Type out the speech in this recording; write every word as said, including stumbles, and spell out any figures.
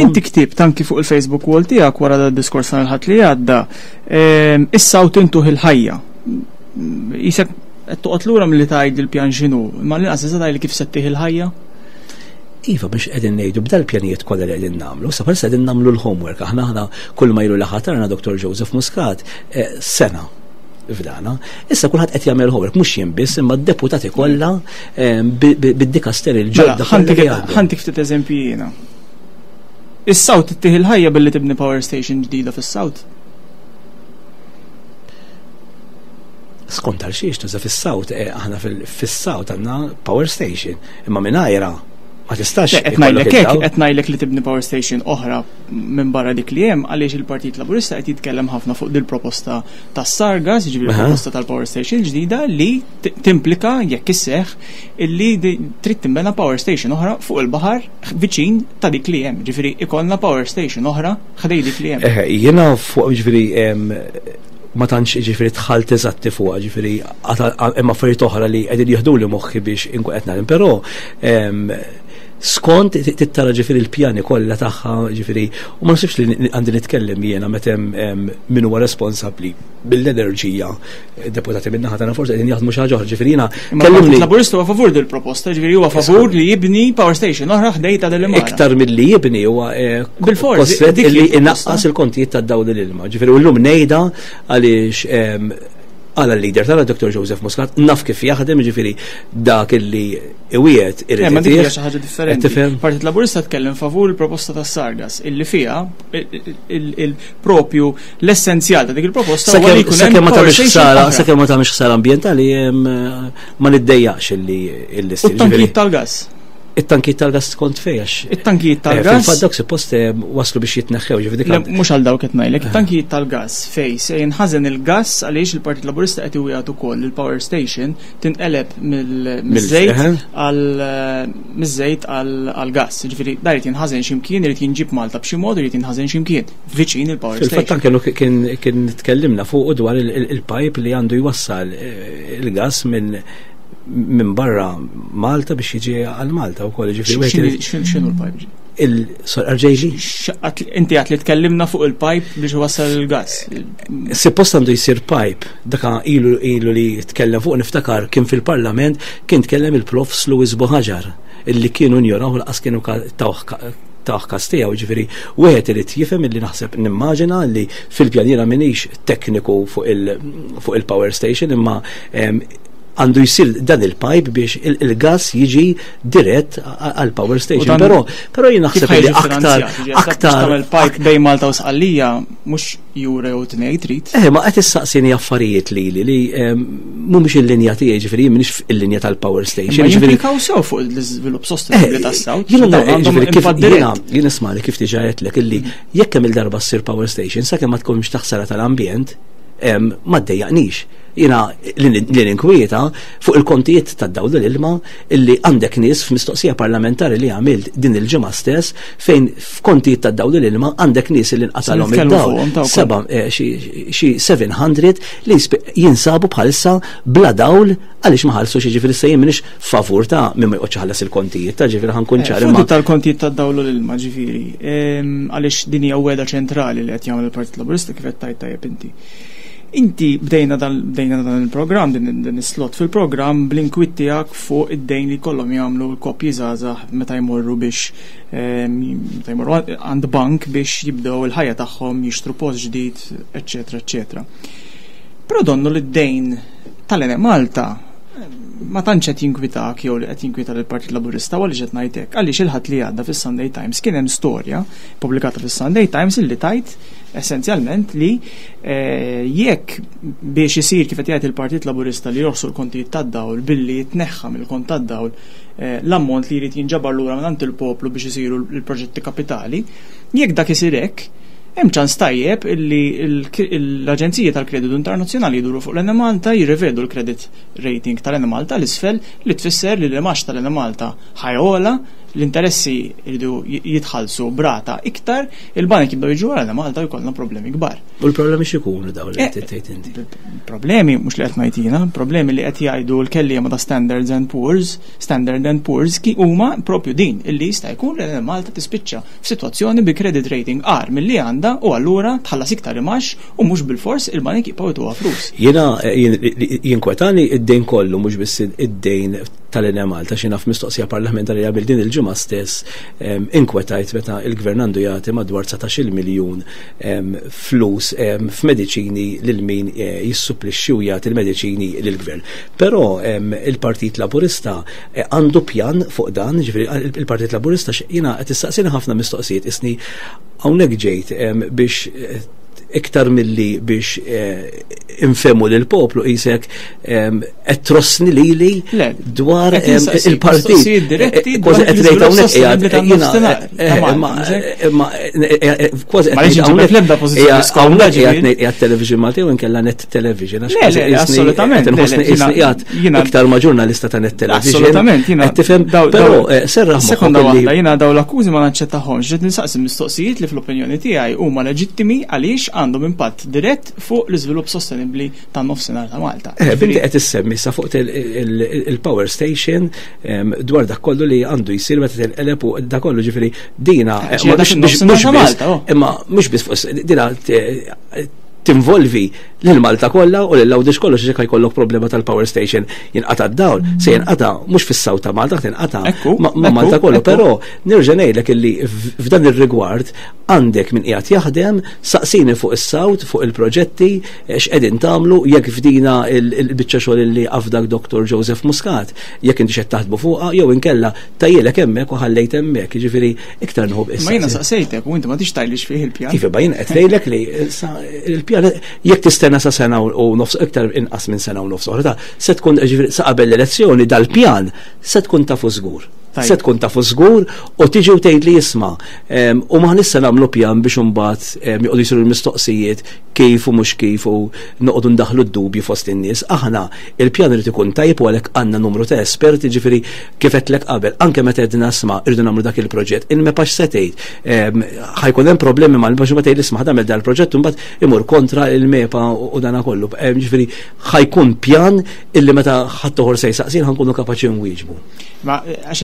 Inti ktibt anki fuq il-Facebook wall tiegħek wara da diskors tal-Ħadd li għadda, ehm, is-South intuh il-ħajja. Isek qed toqgħod lura milli tgħid il-pjan x'inhu, imma l-inqas tista' tgħidli kif se ttih il-ħajja? Iva, biex qegħdin ngħidu b'dal-pjanijiet kollha li qegħdin nagħmlu, sa bħalissa qegħdin nagħmlu l-homework. Aħna aħna kull ma ilu li ħatarna Dottor Joseph Muscat eh, sena f'dana. Issa kulħadd qed jagħmel homework, mhux jien biss, imma d-deputati kollha eh, bid-dikasteri l-ġodda. Mela, ħa ntik ftit eżempji jiena. Is-South ittih il-ħajja billi tibni power station ġdida fis-South. Skont għal xiex tuża fis-South, eh, aħna fis-South għandna power station, imma mingħajra ma tistax. Qed ngħidlek hekk, qed ngħidlek li tibni power station oħra minn barra dik li hemm, għaliex il-Partit Laburista qed jitkellem ħafna fuq dil-proposta tas-Sargas, jiġifieri proposta tal-power station ġdida li timplika, jekk isseħħ, illi trid tinbena power station oħra fuq il-baħar viċin ta' dik li hemm. Ġifieri ikollna power station oħra ħdej dik li hemm. Jiena fuq, ġifieri, ma tantx, ġifieri, dħalt eżatti fuq, ġifieri hemm affarijiet oħra li qegħdin jieħdu li moħħi biex inkun qed nagħmel, però skont tittara, ġifieri, l-pjani kollha tagħha, ġifieri, u ma nasibx li għandi nitkellem jiena meta hemm min huwa responsabbli bil-enerġija, deputati minn naħa tagħna forsi qegħdin jaħdmu xi ħaġa oħra, ġifieri jiena kellimni. Laburista huwa favur dil-proposta, ġifieri huwa favur li jibni power station oħra ħdej ta' del Iktar milli jibni huwa eh, bil-fors li inaqqas il-kontijiet tad-dawl, l-ilma. Ġifieri u llum ngħidha għaliex għala l-leader tagħna Dottor Joseph Muscat naf kif jaħdem, ġifieri dak illi iwiegħed irid. Ma dik xi ħaġa differenti. Partit Laburista tkellem favur il-proposta tas Sargas illi fiha il-propju l-essenzjal ta' dik il-proposta huwa li jkun hemm ma tagħmilx ħsara, sakemm ma tagħmilx ħsara ambjentali, ma niddejjaqx illi illi Tankijiet tal-gas. It-tankijiet tal-gas kont fejn? It-tankijiet tal-gas. Fil-fatt dawk suppost eh, waslu biex jitneħħew, ġifieri dik Mhux għal dawk qed ngħidlek, it-tankijiet tal-gas fej se jinħażen il-gas, għaliex il-Partit Laburista qed iwiegħed ukoll il-power station tinqeleb mill-żejt għal miż-żejt għal gas. Ġifieri dar irid jinħażen x'imkien, irid jinġib Malta b'xi mod, irid jinħażen x'imkien viċin il-power station. Fil-fatt anke kien kien tkellimna fuq dwar il-pipe li għandu jwassal eh, il-gas minn minn barra Malta biex jiġi għal Malta u koll, ġifieri. X'inhu l-pipe? Il-R J G? Inti għat li tkellimna fuq il-pipe biex wasal il-gas. Suppost għandu jisir pipe, daka ilu ilu li tkellem fuq, niftakar kien fil-parlament kien tkellem il-Profs Louis Buhagiar, illi kienu njoraw, laqas kienu tawh tawh kas tiegħu, ġifieri wieħed irid jifhem illi naħseb nimmaġina li fil-pjaniera, minix tekniku fuq il-power station, imma għandu jisir dan il-pipe biex il-gas jiġi dirett għal power station. Però però jien naħseb li aktar aktar il-pipe bejn Malta u Sqallija mhux jura jew tnejn trid. Eh, ma qed issaqsini affarijiet li li li mhumiex il-linja tiegħi, ġifieri jien m'iniex il-linja tal-power station. Ġifieri sew fuq l-iżvilupp sostenibbli tas-South. Jiena, ġifieri, kif jiena jien ismali kif diġà għedtlek illi jekk hemm il-darba ssir power station, sakemm ma tkunx taħsara tal-ambjent, ma ddejjaqnix. Jiena li ninkwieta fuq il-kontijiet tad-dawl, l-ilma, illi għandek nies f'mistoqsija parlamentari li għamilt din il-ġimgħa stess, fejn f'kontijiet tad-dawl, l-ilma, għandek nies li nqatalhom id-dawl. Seba' eh, xi seba' mija li jinsabu bħalissa bla dawl għaliex ma ħallsu xi. Ġifieri se jien m'iniex favur ta' min ma joqgħodx ħallas il-kontijiet ta', ġifieri ħa nkun eh, ċar. Tal-kontijiet tad-dawl, l-ilma, ġifieri, għaliex din hija wegħda ċentrali li qed jagħmel il-Partit Laburista, kif qed tajt tajjeb inti. Inti bdejna dan bdejna dan il-programm, din din is-slot fil-programm, bl-inkwiet tiegħek fuq id-dejn li kollhom jagħmlu l-koppji żgħażagħ meta jmorru biex ehm, meta jmorru għand bank biex jibdew il-ħajja tagħhom, jixtru post ġdid, eċetera, eċetera. Però donnu li d-dejn tal-Enemalta ma tantx qed jinkwitak jew li qed jinkwita lill-Partit Laburista. Għaliex qed ngħidlek? Għaliex il-Ħadd li għadda fis-Sunday Times kien hemm storja pubblikata fis-Sunday Times illi tajt essenzjalment li eh, jekk biex isir kif qed jgħid il-Partit Laburista li jorħsu l-kontijiet tad-dawl billi jitneħħa mill-kont tad-dawl eh, l-ammont li jrid jinġabar lura minn il-poplu biex isiru l-proġetti kapitali, jekk dak isir hekk, hemm ċans tajjeb illi l-Aġenzija tal-Kreditu Internazzjonali jduru fuq l-Enemalta, jirrivedu l-credit rating tal-Enemalta l-isfel, li tfisser li l-imgħax tal-Enemalta ħa jogħla. L-interessi jridu jitħallsu brata iktar, il-banek jibdew jiġu għal Malta jkollna problemi kbar. U l-problemi x'ikunu dawn li qed tgħid inti? Problemi mhux li qed ngħid, problemi li qed jgħidu l-kelliema ta' Standards and Poor's, Standard and Poor's ki huma propju din illi jista' jkun li Malta tispiċċa f'sitwazzjoni bi credit rating agħar milli għandha u allura tħallas iktar imax u mhux bil-fors il-banek jibqgħu jtuha flus. Jiena jinkwetani id-dejn kollu, mhux biss id-dejn tal-Enemalta. Xi naf mistoqsija parlamentari qabel din il-ġimgħa stess inkwetajt meta il-gvern għandu jagħti madwar dsatax-il miljun flus f'mediċini lil min eh, jissupplixxi u jagħti l-mediċini lill-gvern. Però il-Partit Laburista eh, għandu pjan fuq dan, ġifieri il-Partit Laburista, jiena qed issaqsini ħafna mistoqsijiet, isni hawnhekk ġejt biex eh, iktar milli biex infehmu lil poplu, qisek qed trossni lili dwar il-partit. Kważi qed ngħid hawnhekk imma kważi qed hawnhekk qiegħed Television Malti u nkella Net Television. Assolutament. Inħossni qiegħed iktar ma' ġurnalista ta' Net Television. Assolutament. Qed tifhem, però serraħ. Sekonda waħda, jiena daw l-akkużi ma naċċettahomx, ġiet nistaqsi mistoqsijiet li fl-opinjoni tiegħi huma leġittimi għaliex għandhom impatt dirett fuq l-iżvilupp sostenibbli tan-nofsinhar ta' Malta. Eh, binti qed issemmi sa fuq il-power station, dwar dak kollu li għandu jsir meta tinqeleb u dak kollu, ġifieri dina eh, oh. Imma mhux biss fuq dina, tinvolvi lil Malta kollha u lil Għawdex kollu, xi jkollok problema tal-power station, jinqata' d-dawl, se jinqata' mhux fis-south ta' Malta, tinqata' ma' Malta kollu, però nerġa' ngħidlek illi f'dan ir-rigward għandek min qiegħed jaħdem, saqsini fuq is-south, fuq il-proġetti, x'qegħdin tagħmlu, jekk fdina il-biċċa xogħol li afdak Doktor Joseph Muscat, jekk inti xed taħdmu fuqha jew inkella tajjelek hemmhekk u ħallejt hemmhekk, jiġifieri iktar nħobb issa. Ma jiena saqsejtek u inti ma tix tgħidlix fih il-pjan. Kif ba jien qed ngħidlek li il-pjan jekk tistenna sa sena u nofs, iktar inqas minn sena u nofs oħra, se tkun, ġifieri sa qabel l-elezzjoni dal-pjan se tkun tafu żgur. Se tkun tafu żgur u tiġi u tgħid li jisma' u ma nista' nagħmlu pjan biex imbagħad joqogħdu jsiru l-mistoqsijiet kif u mhux kif u noqogħdu ndaħlu d-dubji fost in-nies. Aħna il-pjan irid ikun tajjeb u għalhekk għandna numru ta' esperti, ġifieri kif qedlek qabel, anke meta qegħdin nisma' irridu nagħmlu dak il-proġett. Il-MEPA se tgħid ħa jkun hemm problemi mal-MEPA, ma tgħid isma' ħa dal proġett imbagħad imur kontra il-MEPA u dana kollu. Ġifieri ħa jkun pjan illi meta ħadd se jsaqsin ħa nkunu kapaċi nwieġbu. Ma